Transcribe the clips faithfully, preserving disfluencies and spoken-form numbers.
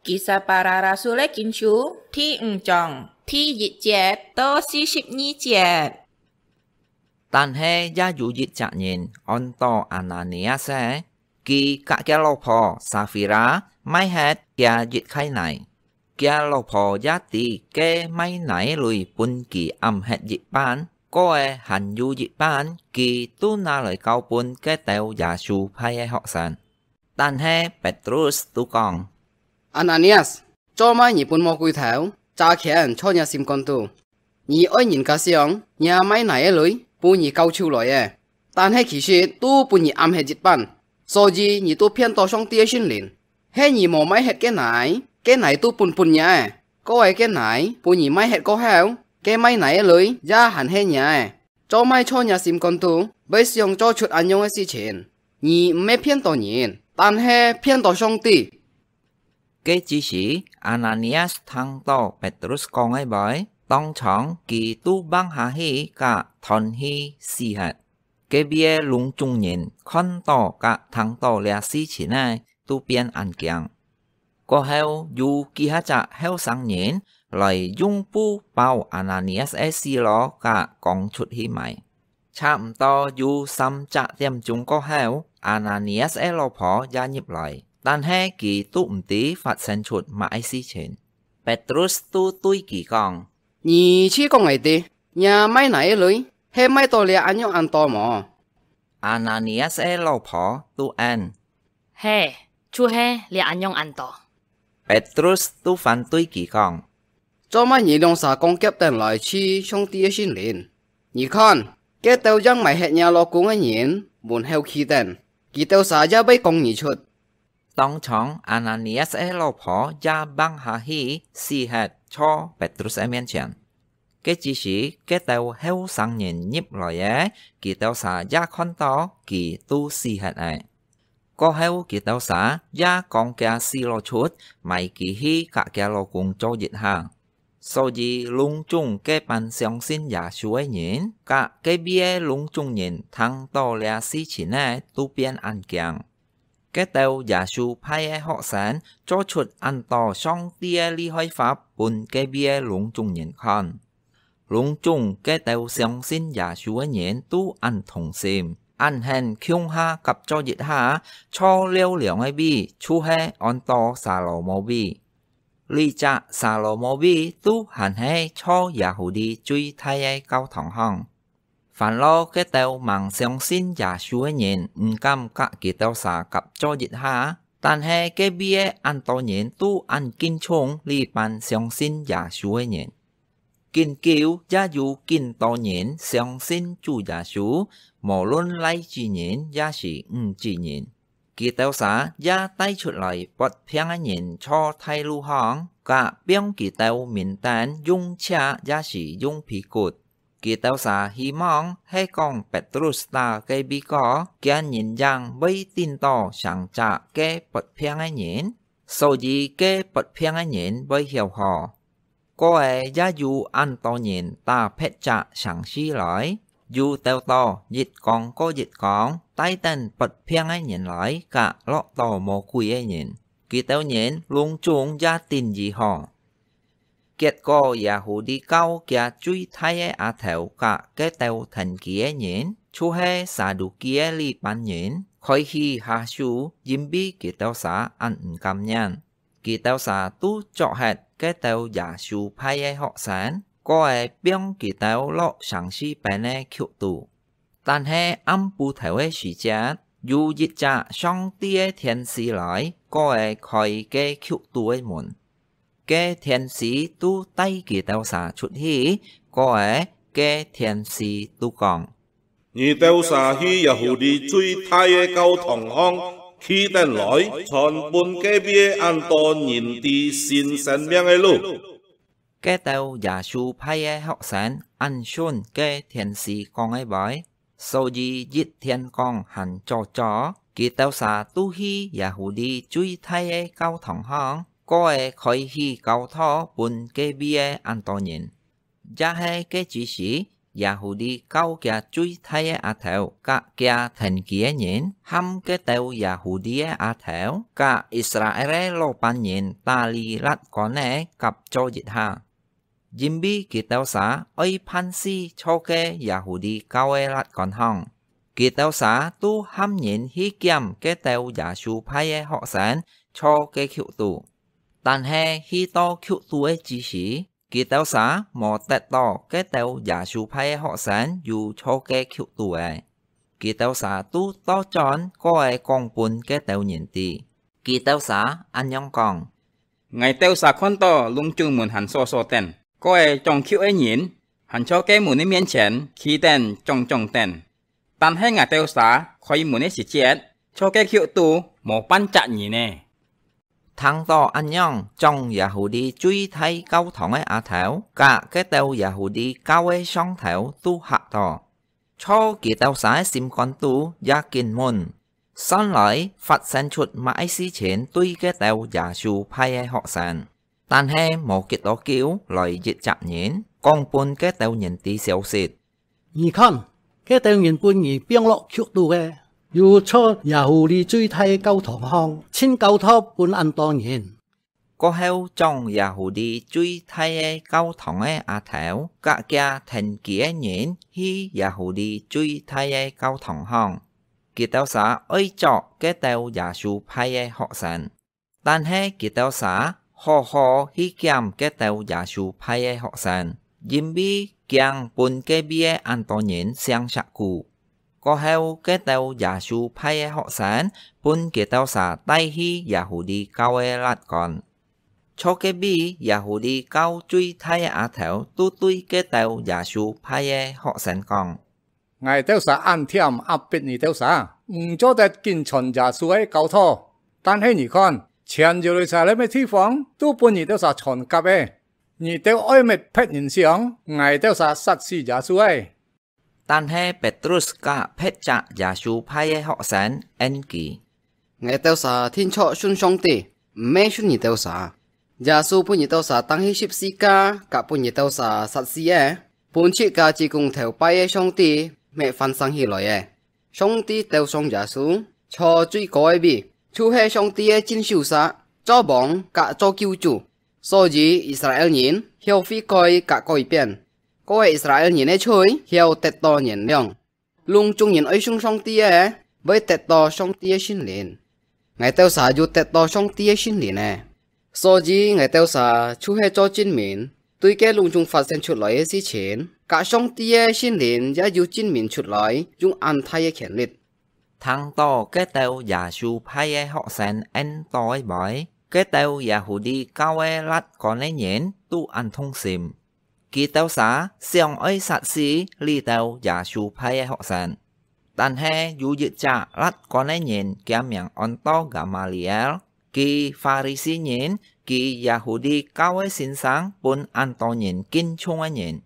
Kisah Para Rasul-é Kitab Kincu第五章第一節到四十二節。但係也有一隻人，安到Ananias，佢佮厥老婆Safira賣忒厥一垤泥。厥老婆也知該賣泥鐳分佢暗忒一半，過仔還有一半，佢都拿來交分該兜耶穌派个學生。 但係Petrus都講：「Ananias，做麼你分魔鬼頭，詐騙在若心肝肚？你愛人家想，若賣泥个鐳分你交出來个，但係其實都分你暗忒一半，所以你都騙到上帝个聖靈。係你無賣忒該泥，該泥都分分若个，過仔該泥分你賣忒過後，該賣泥个鐳也還係若个。 做麼在若心肝肚會想做出恁樣个事情？你毋係騙到人，但係騙到上帝。」該之時，Ananias聽到Petrus講个話，當場佢都橫下去佮斷氣死忒。隔壁个攏總人看到佮聽到這事情个，都變恁驚。 過後，有幾下隻後生人來用布包Ananias个屍摎佮扛出去埋。差毋多有三隻點鐘過後，Ananias个老婆也入來，但係佢都毋知發生出麼个事情。Petrus都對佢講：「你試講𠊎知，若賣泥个鐳係賣到這恁樣恁多無？」Ananias个老婆都應： 係，就係這恁樣恁多。Petrus都反對佢講：「做麼你兩儕講夾等來試上帝个聖靈？你看，該兜已經賣忒若老公个人門口企等，佢兜儕也會講你出。」當場Ananias个老婆也橫下去死忒在Petrus个面前。 該之時，該兜後生人入來个，佢兜儕也看到佢都死忒了。過後佢兜儕也扛厥屍摎出，埋佢去佮厥老公做一下。所以攏總該班相信耶穌个人，佮隔壁个攏總人聽到這事情个，都變恁驚。 該兜耶穌派个學生做出恁多上帝个厲害法分隔壁个攏總人看。攏總該兜相信耶穌个人都恁同心，恁肯共下合作一下，造尞涼个位就係安到撒羅摩位。這隻撒羅摩位都還係造耶戶地最大个教堂項。 煩惱該兜吂相信耶穌个人毋敢佮佢兜儕合作一下，但係隔壁个恁多人都恁敬重這班相信耶穌个人。緊久也有緊多人相信主耶穌，無論倈仔人也係女仔人。 佢兜儕也帶出來發病个人在大路項，佮放佢兜面頂用尺也係用被骨。佢兜儕希望係講Petrus打該位過，厥人影會頂到成隻該發病个人，所以該發病个人會曉好。 過仔也有恁多人打別隻城市來，又鬥到一扛過一扛，帶等發病个人來佮落到魔鬼个人，佢兜人攏總也頂醫好。結果耶戶地教厥最大个阿頭佮該兜跈佢个人，就係撒都基个這班人，開始下手，因為佢兜儕恁毋甘願。 佢兜儕都捉核該兜耶穌派个學生，過仔放佢兜落城市邊个窟肚。但係暗晡頭个時節，有一隻上帝个天使來，過仔開該窟肚个門。該天使都帶佢兜儕出去，過仔該天使都講： 你兜儕去耶戶地最大个教堂項企等來，傳分隔壁恁多人知新生命个路。該兜耶穌派个學生恁順該天使講个話，所以一天光還早早，佢兜儕都去耶戶地最大个教堂項，過仔開始教導分隔壁个恁多人。 也係該之時， Yê-hû-li教佢最大个阿頭，甲佢跈佢个人，含該兜Yê-hû-li个阿頭，甲Israel个老板人打理拉干个合作一下。因為佢兜儕愛辦事坐該Yê-hû-li教个拉干項，佢兜儕都喊人去檢該兜耶穌派个學生坐該轎肚。但係去到轎肚个之時， 佢兜儕無得到該兜耶穌派个學生有坐該轎肚仔。佢兜儕都倒轉過仔講分該兜人知。佢兜儕恁樣講：𠊎兜儕看到攏總門還鎖鎖等，過仔掌轎个人還在該門个面前企等掌掌等。但係𠊎兜儕開門个時節，坐該轎肚無半隻人呢！ 聽到恁樣，掌Yê-hû-li最大教堂个阿頭，甲該兜Yê-hû-li教个上頭都嚇到。在佢兜儕个心肝肚也緊問：「算來發生出麼个事情對該兜耶穌派个學生？」但係無幾多久來一隻人，講分該兜人知消息： 「你看，該兜人分你放落轎肚个，有坐Yê-hû-li最大教堂項，盡交託分恁多人。」過後，掌Yê-hû-li最大个教堂个阿頭，甲佢跈佢个人去Yê-hû-li最大个教堂項，佢兜儕愛捉該兜耶穌派个學生。 但係佢兜儕好好去檢該兜耶穌派个學生，因為驚分該位个恁多人相惜故。過後，該兜耶穌派个學生分佢兜儕帶去Yê-hû-li教个拉干。在該位Yê-hû-li教最大个阿頭都對該兜耶穌派个學生講： 「𠊎兜儕恁悿壓迫你兜儕，毋做得緊傳耶穌个教導。但係你看，全耶路撒冷个地方都分你兜儕傳合仔。你兜愛搣別人像，𠊎兜儕殺死耶穌仔。」但係Petrus甲別隻耶穌派个學生應佢： 「𠊎兜儕定著信上帝，毋係信你兜儕。耶穌分你兜儕釘去十字架，甲分你兜儕殺死个，分自家支公頭拜个上帝，乜翻生起來个。上帝鬥上耶穌，坐最高个位，就係上帝个正手儕，做王甲做救主。所以以色列人曉悔改甲改變，過个以色列人个罪曉得到原諒。 攏總人愛信上帝个，會得到上帝个聖靈。𠊎兜儕有得到上帝个聖靈呢，所以𠊎兜儕就係做證明，對該攏總發生出來个事情，甲上帝个聖靈也有證明出來，用恁大个權力。」聽到該兜耶穌派个學生應到个話，該兜Yê-hû-li教个拉干个人都恁痛心。 佢兜儕想愛殺死這兜耶穌派个學生。但係有一隻拉干个人，厥名安到Gamaliel，佢法利賽人，佢Yê-hû-li教个先生分恁多人敬重个人。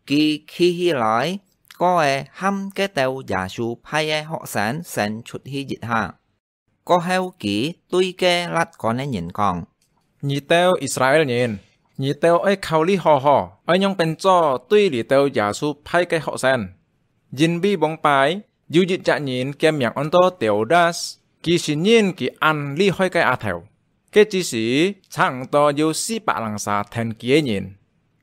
佢企起來，過仔喊該兜耶穌派个學生先出去一下。 過後佢對該拉干个人講：「你兜以色列人，你兜愛考慮好好，愛仰般做對這兜耶穌派个學生。因為往擺有一隻人，厥名安到Teudas，佢承認佢恁厲害个阿頭。該之時，差毋多有四百零儕跈佢个人，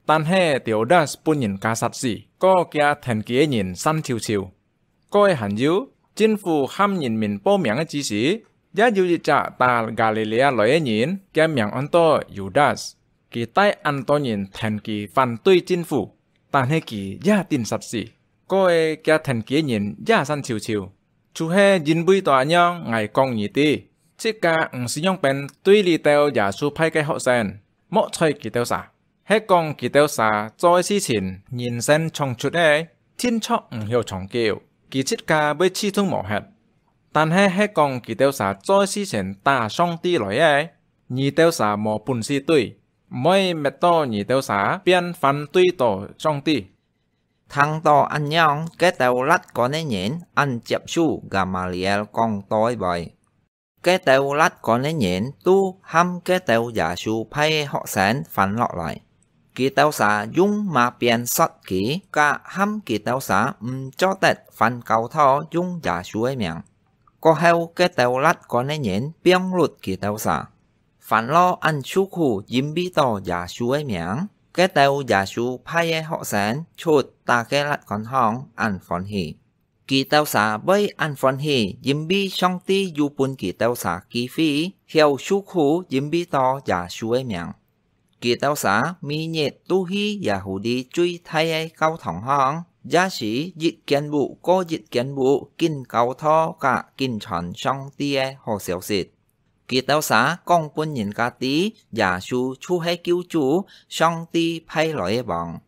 但係Teudas分人家殺死，過厥跈佢个人散臭臭。 過仔還有，政府喊人民報名个之時，也有一隻打Galilea來个人，厥名安到Yudas。佢帶恁多人跈佢反對政府，但係佢也頂煞死。過仔厥跈佢个人也散臭臭。就係因為到恁樣，𠊎講你知，自家毋使仰般對這兜耶穌派个學生，莫睬佢兜儕。 係講佢兜儕做个事情，人生創出个，定著毋曉長久，佢自家會試著無忒。但係係講佢兜儕做个事情打上帝來个，你兜儕無本事對，毋會搣到你兜儕變反對到上帝。」聽到恁樣，該兜拉干个人恁接受Gamaliel講到个話。 該兜拉干个人都喊該兜耶穌派个學生翻落來。佢兜儕用馬鞭搡佢，甲喊佢兜儕毋做得還教徒用耶穌个名。過後，該兜辣官个人放忒佢兜儕。 凡落恁受苦，因為到耶穌个名，該兜耶穌派个學生出打該辣官項恁歡喜。佢兜儕會恁歡喜，因為上帝有分佢兜儕機會，曉受苦，因為到耶穌个名。佢兜儕每日都去耶戶裡最大个教堂項，也係一間屋過一間屋，緊教導甲緊傳上帝个好消息。 佢兜儕講分人家知，耶穌就係救主，上帝派來个王。